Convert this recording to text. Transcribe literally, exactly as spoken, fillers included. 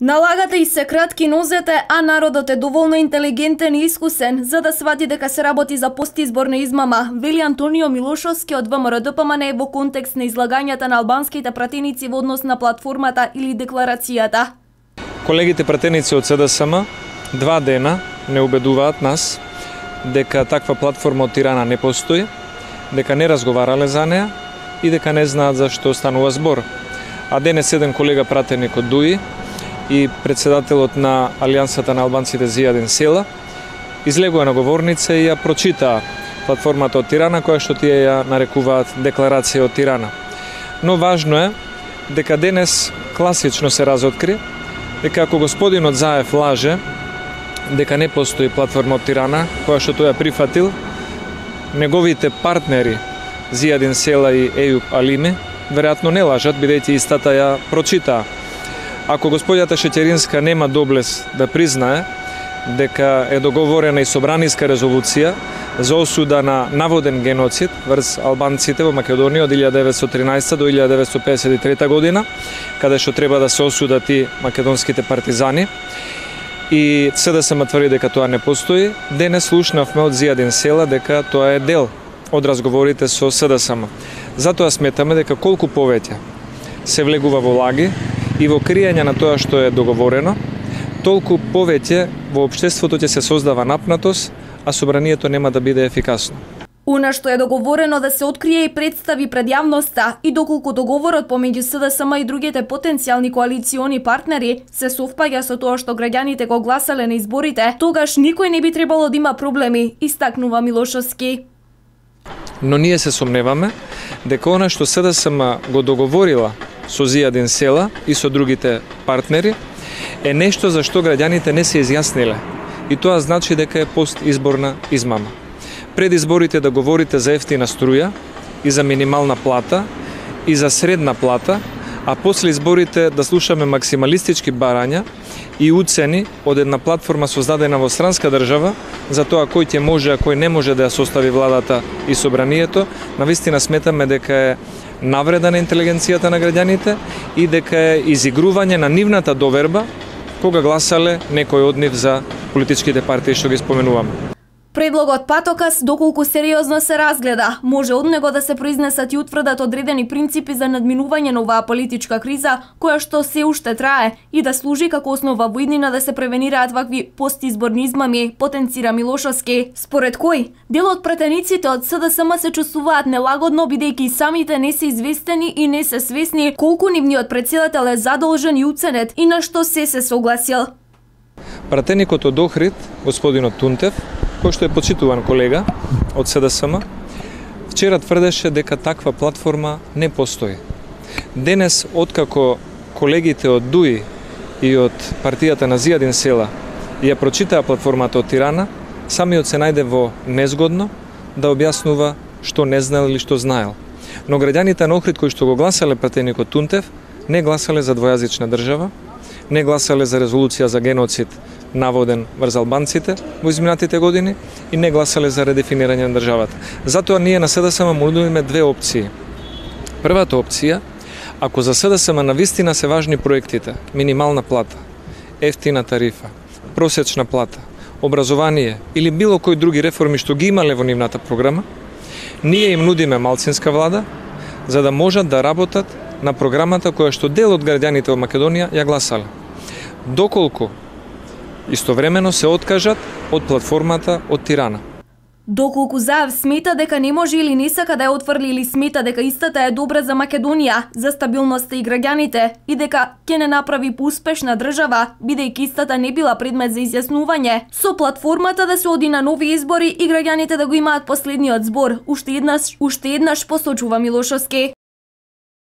Налагате и се кратки нозете, а народот е доволно интелигентен и искусен за да свати дека се работи за постизборна измама, вели Антонио Милошовски од ВМРО-ДПМН во контекст на излагањата на албанските пратеници во однос на платформата или декларацијата. Колегите пратеници од СДСМ два дена не убедуваат нас дека таква платформа од Тирана не постои, дека не разговарале за неа и дека не знаат за што станува збор. А денес еден колега пратеник од ДУИ и председателот на Алијансата на албанците Зијадин Села излегува на говорница и ја прочита платформата од Тирана, која што тие ја нарекуваат декларација од Тирана. Но важно е дека денес класично се разоткри дека ако господинот Заев лаже дека не постои платформа од Тирана, која што тој ја прифатил, неговите партнери Зијадин Села и Ејуб Алими веројатно не лажат, бидејќи истата ја прочитаа. Ако господјата Шеќеринска нема доблес да признае дека е договорена и собраниска резолуција за осуда на наводен геноцид врз албанците во Македонија од илјада деветстотини и тринаесетта до илјада деветстотини и песет и трета година, каде што треба да се осудат и македонските партизани, и СДСМ тврди дека тоа не постои, денес слушнавме од Зијадин Села дека тоа е дел од разговорите со СДСМ. Затоа сметаме дека колку повеќе се влегува во лаги и во криење на тоа што е договорено, толку повеќе во општеството ќе се создава напнатост, а собранието нема да биде ефикасно. Она што е договорено да се открие и представи пред јавноста и доколку договорот помеѓу СДСМ и другите потенцијални коалициони партнери се совпаѓа со тоа што граѓаните го гласале на изборите, тогаш никој не би требало да има проблеми, истакнува Милошовски. Но ние се сомневаме дека она што СДСМ го договорила со Зијадин Села и со другите партнери е нешто за што граѓаните не се изјасниле. И тоа значи дека е постизборна измама. Пред изборите да говорите за ефтина струја и за минимална плата и за средна плата, а после изборите да слушаме максималистички барања и уцени од една платформа создадена во странска држава за тоа кој ќе може, а кој не може да ја состави владата и собранието, навистина сметаме дека е навреда на интелигенцијата на граѓаните и дека е изигрување на нивната доверба кога гласале некој од нив за политичките партии што ги споменуваме. Предлогот патокас, доколку сериозно се разгледа, може од него да се произнесат и утврдат одредени принципи за надминување на оваа политичка криза, која што се уште трае, и да служи како основа во иднина да се превенираат вакви постизборни измами, потенцира Милошовски. Според кој, дел од претениците од СДСМ се чувствуваат нелагодно, бидејќи самите не се известени и не се свесни колку нивниот председател е задолжен и уценет и на што се се согласил. Пратеникот од Охрид, господинот Тунтев, кој што е почитуван колега од СДСМ, вчера тврдеше дека таква платформа не постои. Денес, откако колегите од ДУИ и од партијата на Зијадин Села ја прочитаа платформата од Тирана, самиот се најде во незгодно да објаснува што не знаел или што знаел. Но граѓаните на Охрид кои што го гласале пратеникот Тунтев, не гласале за двојазична држава, не гласале за резолуција за геноцид наводен врз албанците во изминатите години и не гласале за редефинирање на државата. Затоа ние на СДСМ му нудиме две опции. Првата опција, ако за СДСМ навистина се важни проектите, минимална плата, ефтина тарифа, просечна плата, образование или било кои други реформи што ги имале во нивната програма, ние им нудиме малцинска влада за да можат да работат на програмата која што дел од граѓаните во Македонија ја гласале. Доколку истовремено се откажат од платформата од Тирана. Доколку Заев смета дека не може или не сака да ја отфрли или смета дека истата е добра за Македонија, за стабилноста и граѓаните и дека ќе не направи поуспешна држава, бидејќи истата не била предмет за изјаснување, со платформата да се оди на нови избори и граѓаните да го имаат последниот збор, уште еднаш, уште еднаш посочува Милошовски.